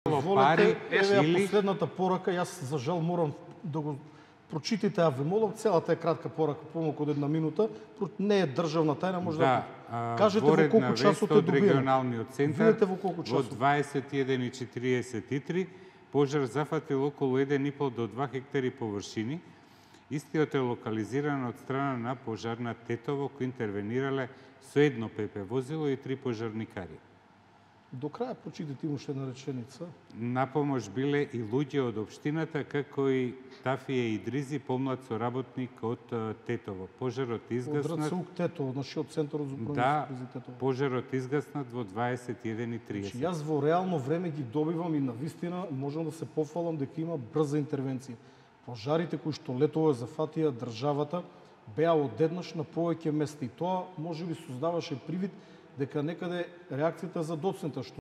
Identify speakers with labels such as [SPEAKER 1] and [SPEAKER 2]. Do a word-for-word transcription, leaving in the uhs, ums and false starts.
[SPEAKER 1] волете, еве ја
[SPEAKER 2] или...
[SPEAKER 1] последната порака, јас за жал морам да го прочитате, а ве молам, целата е кратка порака, помалку од една минута, не е државна тајна, може да,
[SPEAKER 2] да
[SPEAKER 1] кажете во колку часот е добиен.
[SPEAKER 2] Регионалниот центар,
[SPEAKER 1] видете во колку
[SPEAKER 2] во
[SPEAKER 1] часот.
[SPEAKER 2] дваесет и еден и четириесет и три, пожар зафатил околу еден и пол до два хектари површини. Истиот е локализиран од страна на пожарна Тетово, кои интервенирале со едно ПП возило и три пожарникари.
[SPEAKER 1] До крај прочитате уште една реченица.
[SPEAKER 2] На помош биле и луѓе од општината, како и Тафија Идризи, помлад соработник од Тетово. Пожарот изгаснат...
[SPEAKER 1] Од РЦУК Тетово, значи од Центарот за управување
[SPEAKER 2] Да,
[SPEAKER 1] со кризи Тетово.
[SPEAKER 2] пожарот изгаснат во дваесет и еден и триесет.
[SPEAKER 1] Значи, јас во реално време ги добивам и навистина можам да се пофалам дека има брза интервенција. Пожарите кои што летово зафатија државата беа одеднаш на повеќе места и тоа можеби создаваше привид дека некаде реакцијата за доцнета, што